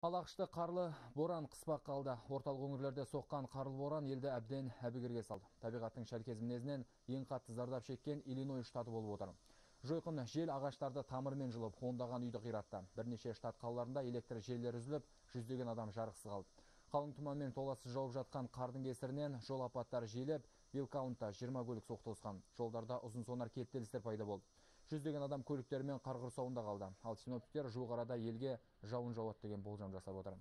Алақшты қарлы боран қыспақ қалды. Орталық өңірлерде соққан қарлы боран елді әбден әбігерге салды. Табиғаттың шәлкез мінезінен ең қатты зардап шеккен Иллинойс штаты болып отыр. Жойқын жел ағаштарды тамырмен жұлып, ондаған үйді қиратты. Бірнеше штат қалаларында электр желілері үзіліп, жүздеген адам жарықсыз қалды. Қалың тұманмен толассыз жауып жатқан қардың кесірінен жол апаттары жиілеп, Вилкаунтта 20 көлік соқтығысқан. Жолдарда ұзын сонар кептелістер пайда болды. Жүздеген адам көліктермен қар құрсауында қалды. Ал синоптиктер жуық арада елге жауын жауады деген болжам жасап отыр.